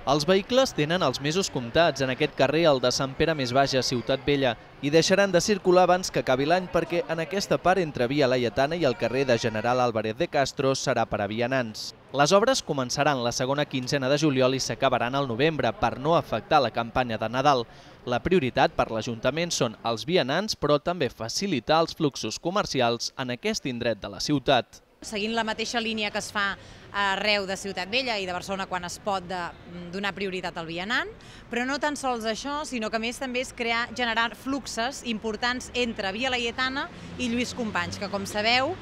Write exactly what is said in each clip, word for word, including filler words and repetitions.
Els vehicles tenen els mesos comptats en aquest carrer, el de Sant Pere Més Baix a Ciutat Vella, i deixaran de circular abans que acabi l'any perquè en aquesta part entre Via Laietana i el carrer de General Álvarez de Castro serà per a vianants. Les obres començaran la segona quinzena de juliol i s'acabaran al novembre per no afectar la campanya de Nadal. La prioritat per l'Ajuntament són els vianants, però també facilitar els fluxos comercials en aquest indret de la ciutat. Seguint la mateixa línia que es fa arreu de Ciutat Vella i de Barcelona quan es pot de, donar prioritat al vianant, però no tan sols això, sinó que a més també és crear, generar fluxes importants entre Via Laietana i Lluís Companys, que com sabeu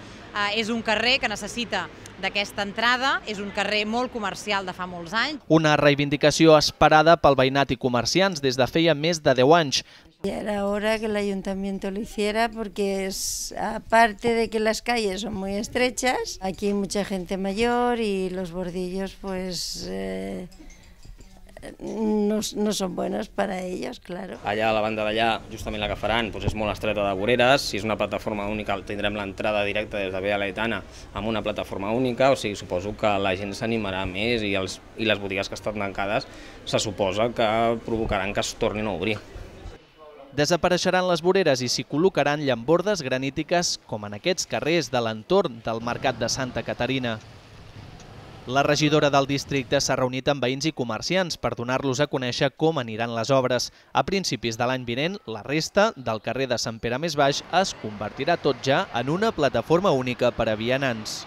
és un carrer que necessita d'aquesta entrada, és un carrer molt comercial de fa molts anys. Una reivindicació esperada pel veïnat i comerciants des de feia més de deu anys. Ya era hora que el ayuntamiento lo hiciera porque es, aparte de que las calles son muy estrechas, aquí hay mucha gente mayor y los bordillos pues eh, no, no son buenos para ellos, claro. Allà a la banda d'allà, justament la que faran, doncs és molt estreta de voreres, si és una plataforma única tindrem l'entrada directa des de Via Laietana amb una plataforma única, o sigui, suposo que la gent s'animarà més i, els, i les botigues que estan tancades se suposa que provocaran que es tornin a obrir. Desapareixeran les voreres i s'hi col·locaran llambordes granítiques com en aquests carrers de l'entorn del Mercat de Santa Caterina. La regidora del districte s'ha reunit amb veïns i comerciants per donar-los a conèixer com aniran les obres. A principis de l'any vinent, la resta del carrer de Sant Pere Més Baix es convertirà tot ja en una plataforma única per a vianants.